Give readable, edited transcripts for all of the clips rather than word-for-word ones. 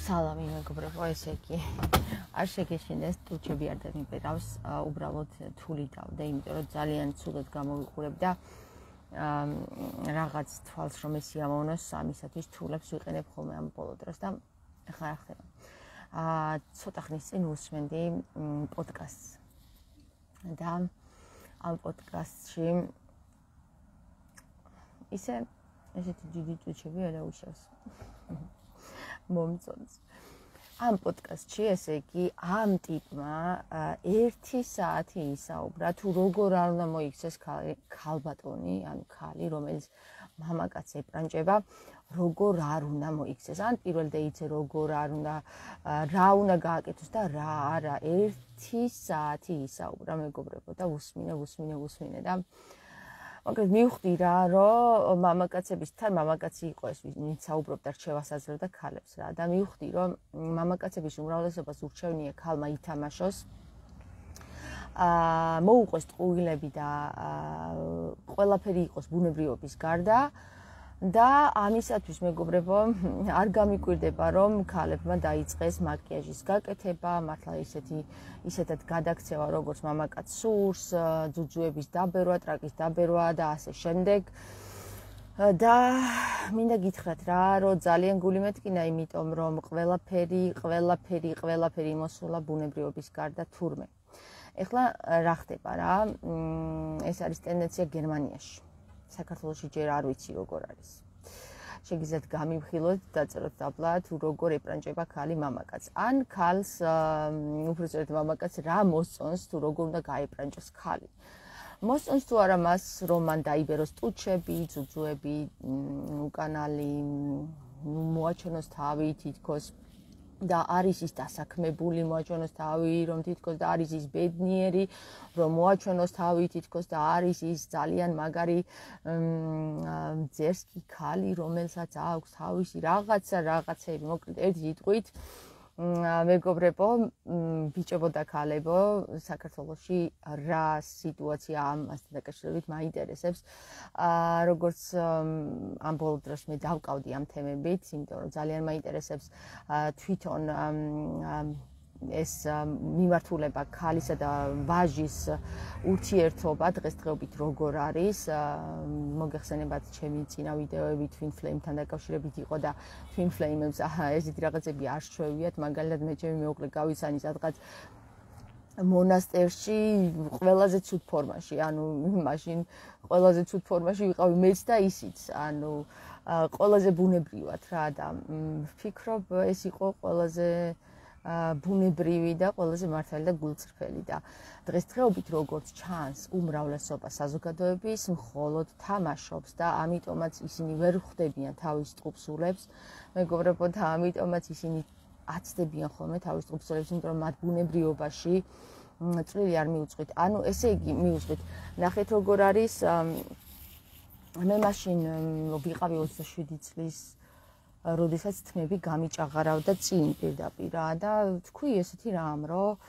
სალამი მეგობრებო, ესე იგი არ შეგეშინდეს ტუჩები არ დამიპირავს, უბრალოდ თული დავდე, იმიტომ რომ ძალიან ცუდად გამოვიყურებ და რაღაც თვალს რომ ესიამოვნოს ამისათვის თულებს ვიყენებ ხოლმე ამ ბოლო დროს და ახლა რა ხდება. ცოტა ხნის წინ უსმენდი პოდკასტს და ამ პოდკასტში ესეთი დიდი ტუჩები არა უშავს. მომწონს. ამ პოდკასტში, ესე იგი, ამ ტიპმა 1 საათი ისაუბრა თუ როგორ არ უნდა მოიქცეს ქალბატონი, ანუ ქალი, რომელიც მამაკაცს ეპრანჭება, როგორ არ უნდა მოიქცეს. ან პირველ დეიტზე როგორ არ უნდა, რა უნდა გააკეთოს და რა არა. 1 საათი ისაუბრა მეგობრებო და უსმინე და მაგრამ მივხვდი რა, რომ მამაკაცი იყო ეს, ვინც საუბრობდა რჩევას აძლევდა ქალებს რა და მივხვდი, რომ მამაკაცების უმრავლესობას ურჩევნია ქალმა ითამაშოს, მოუყვეს ტყუილები და ყველაფერი იყოს ბუნებრიობის გარდა და ამისათვის მეგობრებო არ გამიკვირდება, რომ ქალებმა დაიწყეს მაკიაჟის გაკეთება, მართლა ისეთად გადაქცევა, როგორც მამაკაც სურს, ძუძუების დაბერვა, ტრაკის დაბერვა და ასე შემდეგ. და მინდა გითხრათ რა, რომ ძალიან გული მეტკინა, იმიტომ რომ ყველაფერი მოსულა ბუნებრიობის გარდა თურმე. ეხლა რა ხდება რა? ეს არის ტენდენცია გერმანიაში. საქართველოში ჯერ არ ვიცი როგორ არის. შეგიძლიათ გამივხილოთ, დაწეროთ დაბლა თუ როგორ ეპრანჭება ქალი მამაკაცს. ან ქალს უბრალოდ მამაკაცს რა მოსწონს თუ როგორ უნდა გაეპრანჭოს ქალი. მოსწონს თუ არა მას, რომ მან დაიბეროს ტუჩები, ძუძუები, უკანალი, მოაჩვენოს თავი თითქოს და არის ის დასაქმებული, მოაჩვენოს თავი, რომ თითქოს და არის ის ბედნიერი, რომ მოაჩვენოს თავი თითქოს და არის ის ძალიან მაგარი ძერსკი ქალი, რომელსაც აქვს თავისი რაღაცები, მოკლედ ერთი სიტყვით, მეგობრებო, ბიჭებო და ქალებო, საქართველოში რა სიტუაცია ამასთან დაკავშირებით მაინტერესებს. როგორც ამ ბოლო დროს მე დავკავდი ამ თემებით, იმიტომ რომ ძალიან მაინტერესებს თვითონ ეს მიმართულება ქალისა და ვაჟის ურთიერთობა დღესდღეობით როგორ არის. მოგეხსენებათ ჩემი წინა ვიდეოები Twin Flame-თან დაკავშირებით იყო და Twin Flame-ებს ესეთი რაღაცები არ შევიათ, მაგალითად მე ჩემი მეუღლე გავიცანი სადღაც მონასტერში ყველაზე ცუდ ფორმაში, ანუ მაშინ ყველაზე ცუდ ფორმაში ვიყავი მეც და ისიც, ანუ ყველაზე ბუნებრივად რა და ვფიქრობ ეს იყო ყველაზე ბუნებრივი და ყველაზე მართალი და გულწრფელი და დღესდღეობით როგორც ჩანს უმრავლესობა საზოგადოების მხოლოდ თამაშობს და ამიტომაც ისინი ვერ ხვდებიან თავის ტყუპსულებს, მეგობრებო, და ამიტომაც ისინი აცდებიან ხოლმე თავის ტყუპსულებს, იმიტომ რომ მათ ბუნებრიობაში წვლილი არ მიუძღვით. ანუ ესე იგი მიუძღვით. ნახეთ როგორ არის. მე მაშინ ვიყავი 27 წლის, როდესაც თმები გამიჭაღარავდა წინ პირდაპირ და თქვი ესეთი რამ, რომ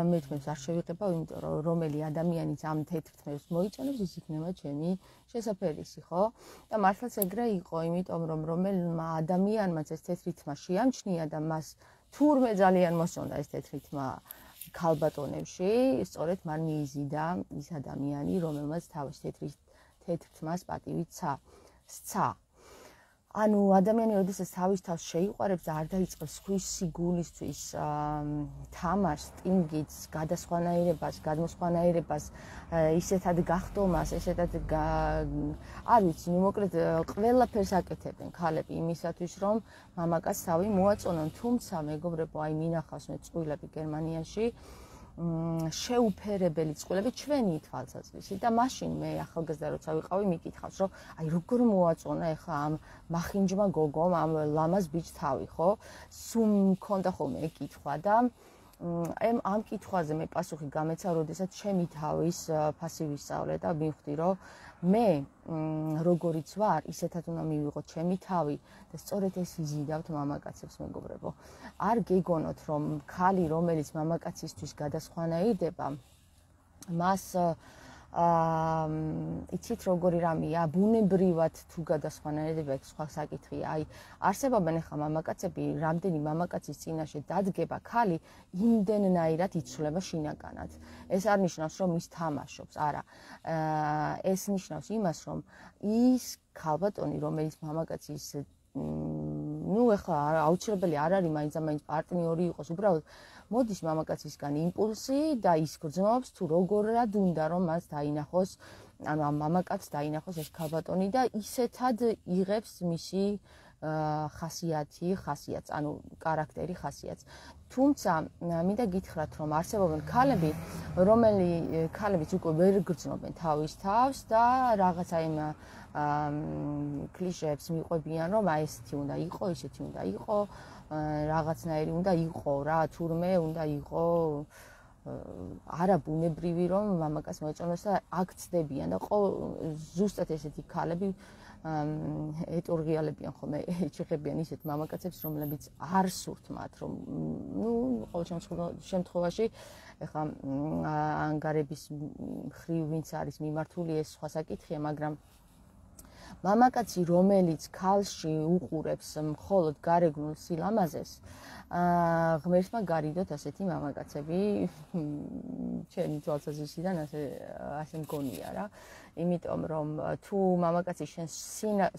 მე თმებს არ შევიღებავ, იმიტომ რომ რომელი ადამიანიც ამ თეთრ თმებს მოიწონებს, ის იქნება ჩემი შესაფერისი, ხო? და მართლაც ეგრე იყო, იმიტომ რომ რომელმა ადამიანმაც ეს თეთრი თმა შეამჩნია და მას თურმე ძალიან მოსწონდა ეს თეთრი თმა ქალბატონებში, სწორედ მან მიიზიდა ის ადამიანი, რომელმაც თავის თეთრ თმას პატივი სცა. ანუ ადამიანი როდესაც თავის თავს შეიყვარებს და არ დაიწყებს სხვის სიგულისთვის თამაშს, სტინგიც, გადმოსხვანაირებას, ისეთად გახდომას, ესეთად არ ვიცი, მოკლედ ყველაფერს აკეთებენ ქალები იმისათვის, რომ მამაკაცს თავი მოაწონონ, თუმცა მეგობრებო, აი მინახავს მე წყვილები გერმანიაში, შეუფერებელი წყვილები ჩვენი თვალსაზრისით და მაშინ მე ახალგაზრდა როცა ვიყავი მიკითხავს, რომ აი როგორ მოაწონა ეხლა ამ მახინჯმა გოგომ ამ ლამაზ ბიჭს თავი, ხო? სულ მქონდა ხოლმე ეკითხვა და ამ კითხვაზე მე პასუხი გამეცა, როდესაც ჩემი თავის ფასი ვისწავლე და მივხვდი, რომ მე როგორიც ვარ, ისეთად უნდა მივიღო ჩემი თავი და სწორედ ეს იზიდავთ მამაკაცებს, მეგობრებო. არ გეგონოთ, რომ ქალი, რომელიც მამაკაცისთვის გადასხვანაირდება, მას იცით როგორი რამეა, ბუნებრივად თუ გადასხვანებდება ეს სხვა საკითხია. აი, არსებობენ ახლა მამაკაცები, რამდენი მამაკაცის წინაშე დადგება ქალი, იმდენნაირად იცვლება შინაგანად. ეს არ ნიშნავს, რომ ის თამაშობს, არა. ეს ნიშნავს იმას, რომ ის ქალბატონი, რომელიც მამაკაცის ეხლა აუცილებელი არ არის მაინც პარტნიორი იყოს, უბრალოდ მოდის მამაკაცისგან იმპულსი და ის გრძნობს თუ როგორად უნდა რომ მას დაინახოს, ანუ ამ მამაკაცს დაინახოს ეს ქალბატონი და ისეთად იღებს მისი ხასიათს, ანუ კარაქტერი ხასიათს. თუმცა მინდა გითხრათ, რომ არსებობენ ქალები, ქალებიც უკვე ვერ გრძნობენ თავის თავს და რაღაცა იმ კლიშეებს მიყვებიან, რომ აი ესეთი უნდა იყო, ისეთი უნდა იყო, რაღაცნაირი უნდა იყო რა, თურმე უნდა იყო არა ბუნებრივი რომ მამაკაც მოეწონოს და აქ ცდებიან და ზუსტად ესეთი ქალები ეტურღიალებიან ხოლმე, ეჭიღებიან ისეთ მამაკაცებს, რომლებიც არ სურთ მათ, რომ ყოველ შემთხვევაში ეხლა ანგარების მხრივ ვინც არის მიმართული ეს სხვა საკითხია, მაგრამ მამაკაცი, რომელიც ქალში უყურებს მხოლოდ გარეგნულ სილამაზეს, ღმერთმა გარიდოთ ასეთი მამაკაცები, ჩემი თვალსაზრისიდან ასე მგონია რა. იმიტომ რომ თუ მამაკაცი შენს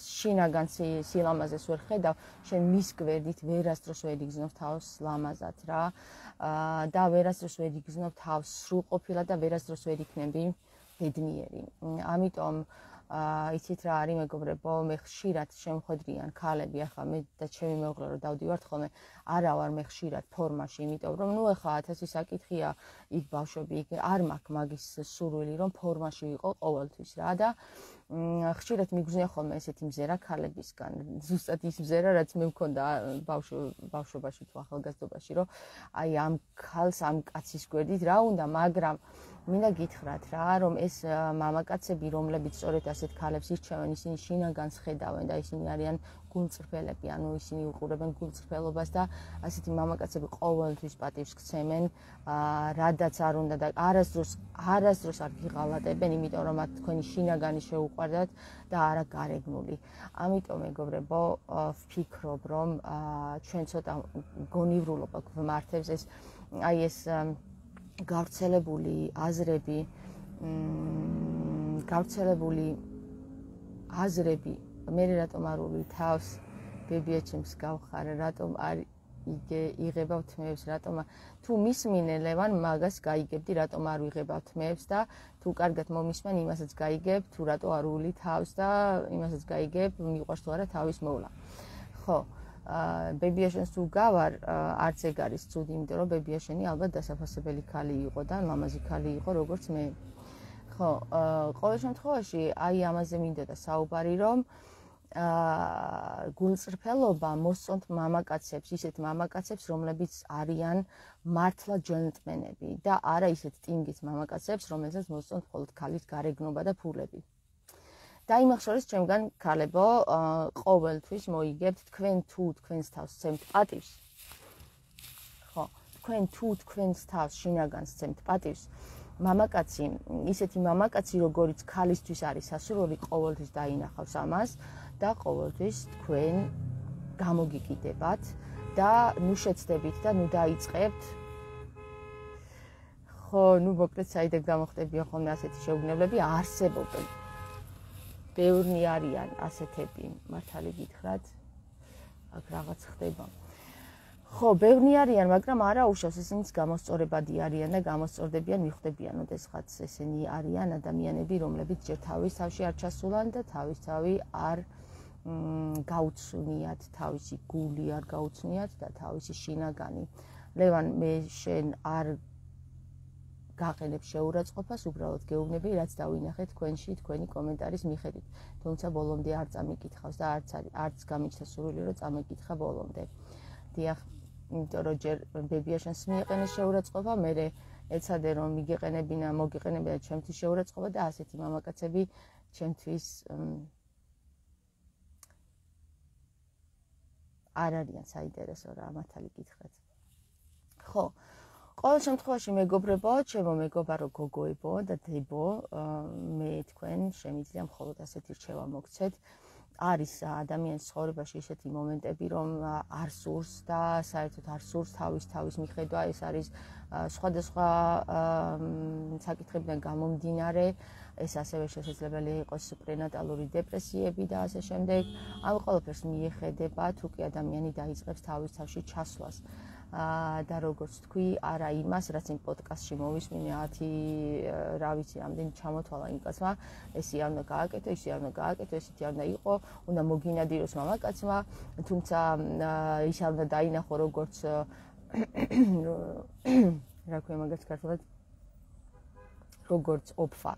შინაგან სილამაზეს ვერ ხედავ, შენ მის გვერდით ვერასდროს ვერ იგრძნով თავს ლამაზად რა და ვერასდროს ვერ იგრძნով თავს სრულყოფილად და ვერასდროს ვერ იქნები ბედნიერი. ამიტომ იცით რა არის მეგობრებო, მე ხშირად შემხედრიან ქალები, ახლა მე და ჩემი მეუღლე რომ დავდივართ ხოლმე, არა ვარ მე ხშირად ფორმაში, იმიტომ რომ ახლა 1000 საკითხია, იქ ბავშვები, იქ არ მაქვს მაგის სურვილი, რომ ფორმაში ვიყო ყოველთვის რა და ხშირად მიგზნია ხოლმე ესეთი მზერა ქალებისგან. ზუსტად ის მზერა, რაც მე მქონდა ბავშვობაში თუ ახალგაზრდობაში, რომ აი ამ ქალს, ამ კაცის გვერდით რა უნდა, მაგრამ მინდა გითხრათ რა, რომ ეს მამაკაცები, რომლებიც სწორედ ასეთ ქალებს ირჩევენ, ისინი შინაგანს ხედავენ და ისინი არიან გულწრფელები, ანუ ისინი უყურებენ გულწრფელობას და ასეთი მამაკაცები ყოველთვის პატივს გცემენ, რადაც არ უნდა და არასდროს არ გიღალატებენ, იმიტომ რომ მათ თქვენი შინაგანი შეუყვარდათ და არა გარეგნული. ამიტომ მეგობრებო, ვფიქრობ, რომ ჩვენ ცოტა გონივრულობა გვმართებს ეს გავრცელებული აზრები, მე რატომ არ უვლი თავს ბებიაჩემს გავხარე, რატომ არ იღებავ თმეებს, რატომ თუ მისმინე ლევან მაგას გაიგებდი, რატომ არ ვიღებავ თმეებს და თუ კარგად მომისმენ იმასაც გაიგებ, თუ რატო არ უვლი თავს და იმასაც გაიგებ, მიყვარს თუ არა თავის მოვლა. ხო, ბებიაშენს თუ გავარ, არც ეგ არის ცუდი, იმიტომ რომ ბებიაშენი ალბათ დასაფასებელი ქალი იყო და ლამაზი ქალი იყო, როგორც მე. ხო, ყოველ შემთხვევაში აი ამაზე მინდოდა საუბარი, რომ გულწრფელობა მოსწონთ მამაკაცებს, ისეთ მამაკაცებს, რომლებიც არიან მართლა ჯენტლმენები და არა ისეთ ტინგის მამაკაცებს, რომელსაც მოსწონთ მხოლოდ ქალის გარეგნობა და ფულები. და იმას შორის ჩემგან ქალებო, ყოველთვის მოიგებთ თქვენ თუ თქვენს თავს სცემთ პატივს. ხო, თქვენ თუ თქვენს თავს შინაგანს სცემთ პატივს, მამაკაცი, ისეთი მამაკაცი, როგორიც ქალისთვის არის სასურველი, ყოველთვის დაინახავს ამას და ყოველთვის თქვენ გამოგიკიდებათ და ნუ შეცდებით და ნუ დაიწყებთ. ხო, ნუ მოკლედ საიდან გამოხდებიან ხოლმე ასეთი შეუგნებლები, არსებობენ. ბევრი არიან ასეთები, მართალი გითხრათ, აქ რაღაც ხდება. ხო, ბევრი არიან, მაგრამ არა უშავს, ისინიც გამოსწორებადი არიან და გამოსწორდებიან, მიხვდებიან, ოდესღაც ესენი არიან ადამიანები, რომლებიც ჯერ თავის თავში არ ჩასულან და თავისთავი არ გაუცნიათ, თავისი გული არ გაუცნიათ და თავისი შინაგანი. ლევან, მე შენ არ გაყენებ შეურაცხყოფას, უბრალოდ გეუბნები, რაც დავინახე თქვენში, თქვენი კომენტარის მიხედვით. თუმცა ბოლომდე არ წამიკითხავს და არც გამიჩნდა სურვილი, რომ წამიკითხა ბოლომდე. დიახ, იმიტომ რომ ჯერ ბებიაშენს მიეყენეს შეურაცხყოფა, მერე ეცადე რომ მოგიყენებინა ჩემთვის შეურაცხყოფა და ასეთი მამაკაცები ჩემთვის არ არიან საინტერესო რა, მართალი გითხრათ. ხო, ყოველ შემთხვევაში მეგობრებო, ჩემო მეგობარო გოგოებო და დებო, მე თქვენ შემიძლია მხოლოდ ასეთი რჩევა მოგცეთ. არის ადამიანის ცხოვრებაში ისეთი მომენტები, რომ არ სურს და საერთოდ არ სურს თავის მიხედვა, ეს არის სხვადასხვა საკითხებიდან გამომდინარე, ეს ასევე შესაძლებელი იყოს პრენატალური დეპრესიები და ასე შემდეგ. ამ ყველაფერს მიეხედება, თუ კი ადამიანი დაიწყებს თავის თავში ჩასვლას. და როგორც თქვი, არა იმას, რაც იმ პოდკასტში მოვისმინე 10 რა ვიცი, რამდენი ჩამოთვალა იმ კაცმა, ესი არ უნდა გააკეთო, ისი არ უნდა გააკეთო, ესეთი არ უნდა იყო, უნდა მოგინადიროს მამაკაცმა, თუმცა ის არ უნდა დაინახო როგორც რა ქვია მაგას ქართულად, როგორც ოფა,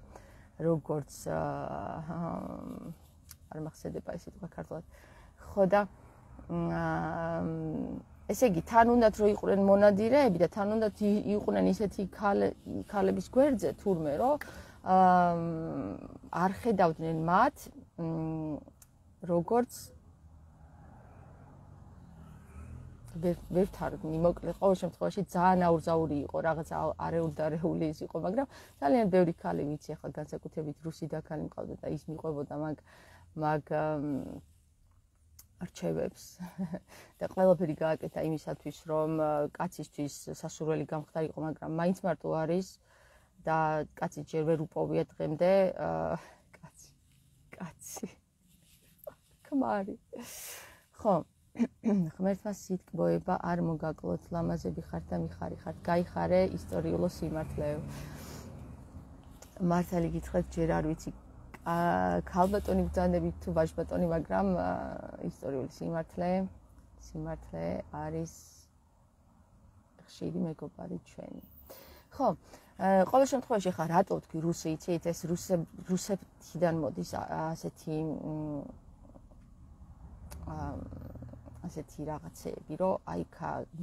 როგორც არ მახსენდება ეს სიტყვა ქართულად. ხო და ესე იგი, თან უნდათ რომ იყვნენ მონადირეები და თან უნდათ იყვნენ ისეთი ქალების გვერდზე თურმე, რომ არ ხედავდნენ მათ, როგორც ვერ თარგმნი, მოკლედ, ყოველ შემთხვევაში ძალიან აურზაური იყო, რაღაცა არეულდარეული ის იყო, მაგრამ ძალიან ბევრი ქალი ვიცი, ახლა განსაკუთრებით რუსი და ქალი მყავდა და ის მიყვებოდა მაგ რჩევებს და ყველაფერი გააკეთა იმისათვის, რომ კაცისთვის სასურველი გამხდარიყო, მაგრამ მაინც მარტო არის და კაცი ჯერ ვერ უპოვია დღემდე, კაცი. ქმარი. ხო, ღმერთმა სიტყვება არ მოგაკლოთ, ლამაზები ხართ და მიხარი ხართ, გაიხარე ისტორიულო სიმართლეო. მართალი გითხრათ, ჯერ არ ვიცი ქალბატონი ბრძანებით თუ ვაჟბატონი, მაგრამ ისტორიული სიმართლე არის ხშირი მეგობარი ჩვენი. ხო, ყოველ შემთხვევაში ხა რატო თქვი რუსი, იცით, ეს რუსეთიდან მოდის ასეთი რაღაცეები, რომ აი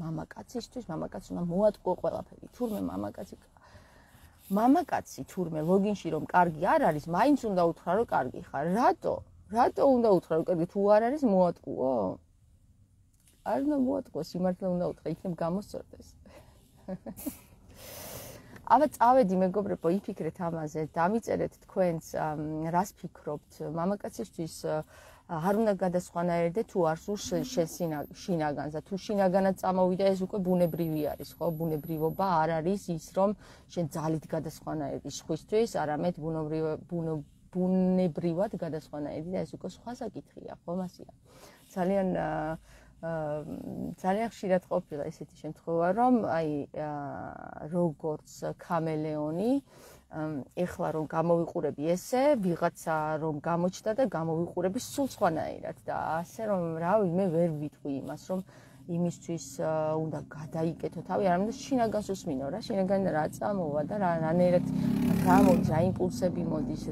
მამაკაცისთვის, მამაკაცს უნდა მოატყუო ყველაფერი. თურმე მამაკაცი თურმე ლოგინში რომ კარგი არ არის, მაინც უნდა უთხრა რომ კარგი ხარ. რატო უნდა უთხრა რომ კარგი, თუ არ არის მოატყუო? არ უნდა მოატყუო, სიმართლე უნდა უთხრა, იქნებ გამოსწორდეს. აბა წავედი მეგობრებო, იფიქრეთ ამაზე, დამიწერეთ თქვენს რას ფიქრობთ, მამაკაცისთვის არ უნდა გადასხვანაერდე თუ არ სურს შინაგანს და თუ შინაგანად წამოვიდა ეს უკვე ბუნებრივი არის, ხო? ბუნებრივობა არ არის ის, რომ შენ ძალით გადასხვანაერდი სხვისთვის, არამედ ბუნებრივად გადასხვანაერდი და ეს უკვე სხვა საკითხია, ხო, მასია. ძალიან ხშირად ყოფილა ესეთი შემთხვევა, რომ აი როგორც ქამელეონი ეხლა რომ გამოვიყურები ესე, ვიღაცა რომ გამოჩნდა და გამოვიყურები სულ სხვანაირად და ასე რომ რავი, მე ვერ ვიტყვი იმას, რომ იმისთვის უნდა გადაიკეთო თავი, არამედ შინაგანს უსმინო რა, შინაგანი რა წამოვა და რანაირად გამოდის, რა იმპულსები მოდის,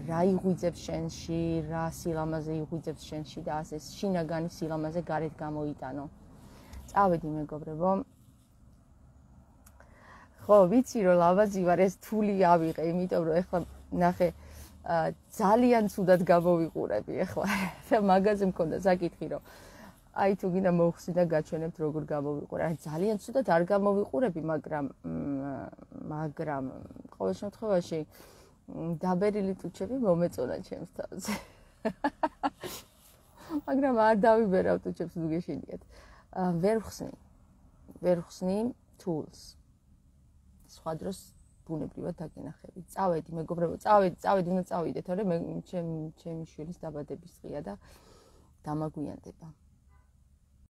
რა იღვიძებს შენში, რა სილამაზე იღვიძებს შენში და ასე შინაგანი სილამაზე გარეთ გამოიტანო. წავედი მეგობრებო. ხო, ვიცი რომ ლამაზი ვარ, ეს თული ავიღე, იმიტომ რომ ეხლა ნახე ძალიან ცუდად გამოვიყურები ეხლა და მაგაზე მქონდა საკითხი, რომ აი თუ გინდა მოვხსნი და გაჩვენებთ როგორ გამოვიყურე. აი ძალიან ცუდად არ გამოვიყურები, მაგრამ ყოველ შემთხვევაში დაბერილი ტუჩები მომეწონა ჩემს თავზე. მაგრამ არ დავიბერავ ტუჩებს, თუ გეშინიათ. ვერ ხსნი თულს. სხვა დროს ბუნებრივად დაგენახები. წავედი მეგობრებო, წავედი, უნდა წავიდეთ, თორე ჩემი შვილის დაბადების დღეა და დამაგვიანდება.